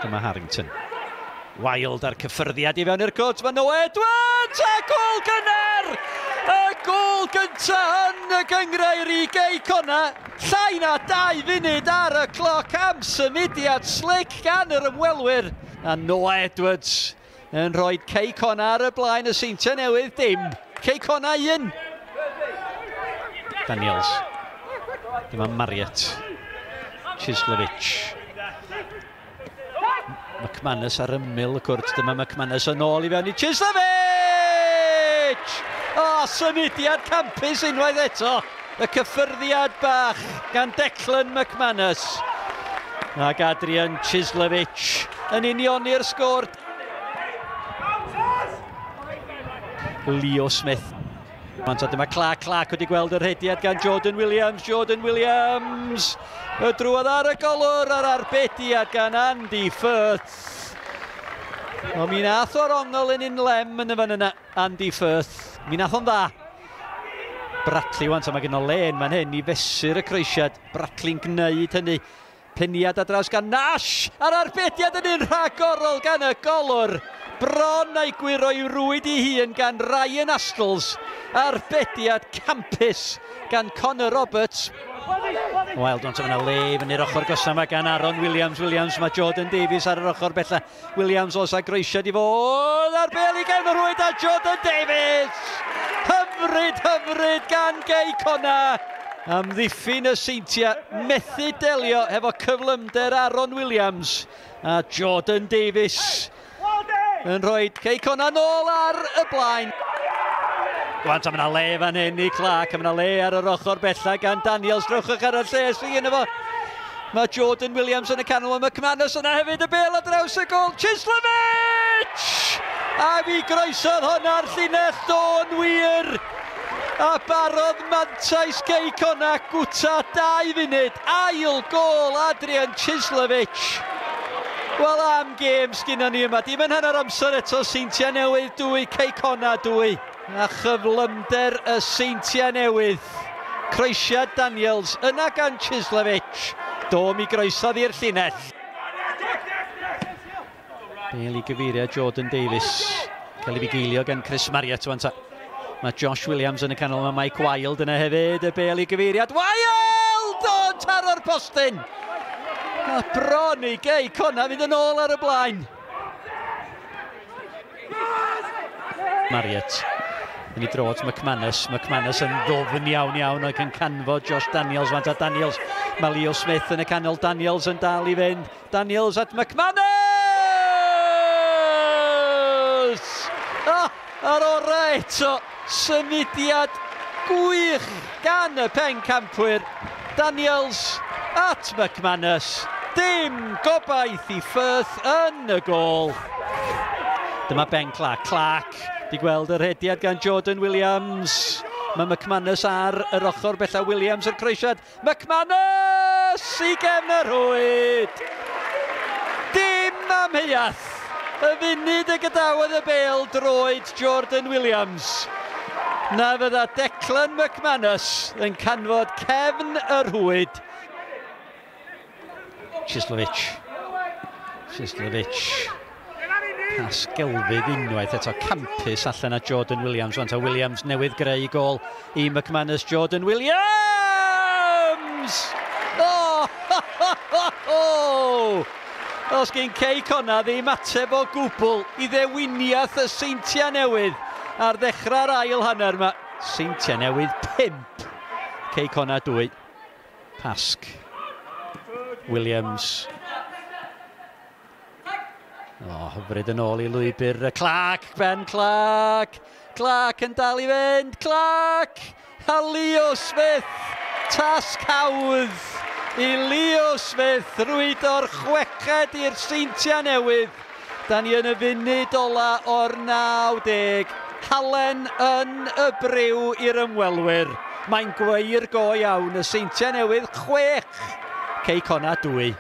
Dyma Harrington. Wild a'r cyffyrddiad i fewn i'r cwrt. Mae Noah Edwards a gôl gynnar! Y gôl gynta yn y gynghrair i Gei Connah. Llai na 2 funud ar y cloc am symudiad slick gan yr ymwelwyr. A Noah Edwards yn rhoi Cei Connah ar y blaen, y Seintiau Newydd dim. Cei Connah 1. Daniels. Dyma Marriott. Chislovich. McManus ar ymyl y cwrt. Dyma McManus yn ôl i fewn i Chislovich! O, symudiad campus unwaith eto. Y cyffyrddiad bach gan Declan McManus. Ac Adrian Chislovich yn unioni'r sgôr. Leo Smith. Manta, dyma Clark. Clark wedi gweld yr rhediad gan Jordan Williams. Jordan Williams! Y drwodd ar y golwr a'r arbediad gan Andy Firth. O, mi nath o'r ongl yn un lem yn y fan yna, Andy Firth. Mi nath o'n dda. Bradley wan, mae gen o len fan hyn i fesur y croesiad. Bradley'n gwneud hynny. Peniad ar draws gan Nash, a'r arbediad yn un rhagorol gan y golwr. Bron a'i gwyro i'w rwyd ei hun gan Ryan Astles. Arbediad campus gan Connor Roberts. Wild ond yna le fyny'r ochr gosa yma gan Aaron Williams. Williams, mae Jordan Davies ar yr ochr bella. Williams os a groesiad i fod ar bel i gefn y rwyd a Jordan Davies! Hyfryd, hyfryd gan Gei Connah. Amddiffyn y Seintiau, methu delio hefo cyflymder Aaron Williams a Jordan Davies yn rhoi Cei Connah nôl ar y blaen. Gwant, a mae yna le fan hyn i Clark, a mae yna le ar yr ochr bella gan Daniels. Drychwch ar y lle sydd yno fo. Mae Jordan Williams yn y canol, mae McManus yna hefyd, y bel ar draws y gôl. Chislovich! A fi groesodd hwnna'r llinell, do'n wir! A barodd mantais Cei Connah gwta 2 funud. Ail gôl Adrian Chislovich. Wel, am gêm sgynnon ni yma. Dim yn hanner amser eto, Seintiau Newydd 2, Cei Connah 2. A chyflymder y Seintiau Newydd. Croesiad Daniels yna gan Chislovich. Do mi groesodd i'r llinell. Bel i gyfeiriad Jordan Davies. Cael ei fugeilio gan Chris Marriott wan ta. Mae Josh Williams yn y canol, mae Mike Wild yna hefyd, y bel i gyfeiriad. Wild! O'n taro'r postyn! A bron i Gei Connah fynd yn ôl ar y blaen. Marriott yn ei dro at McManus. McManus yn ddofn iawn iawn ac yn canfod Josh Daniels. Fant a Daniels. Mae Leo Smith yn y canol. Daniels yn dal i fynd. Daniels at McManus! Ah, ar orau eto. Symudiad gwych gan y pencampwyr. Daniels at McManus. Dim gobaith i Firth yn y gôl. Dyma Ben Clark. Clark di gweld yr rhediad gan Jordan Williams. Mae McManus ar yr ochr bella. Williams yr croesiad. McManus i gefn y rhwyd. Dim amheuaeth. Y funud y gadawodd y bel droed Jordan Williams. Na fydda Declan McManus yn canfod cefn y rhwyd. Chislovich. Chislovich. Pas gelfydd unwaith eto campus allan a Jordan Williams. Wanta Williams newydd greu gôl i McManus. Jordan Williams! Oh! Ho, ho, ho, ho! Os gen Cei Connah ddim ateb o gwbl i ddewiniaeth y Seintiau Newydd ar ddechrau'r ail hanner yma. Seintiau Newydd 5, Cei Connah 2. Pasg. Williams. O, hyfryd yn ôl i lwybr Clark, Ben Clark. Clark yn dal i fynd. Clark! A Leo Smith. Tasg hawdd i Leo Smith rwydo'r chweched i'r Seintiau Newydd. Da ni yn y funud ola o'r 90. Halen yn y briw i'r ymwelwyr. Mae'n gweir go iawn y Seintiau Newydd 6. Cei Connah 2.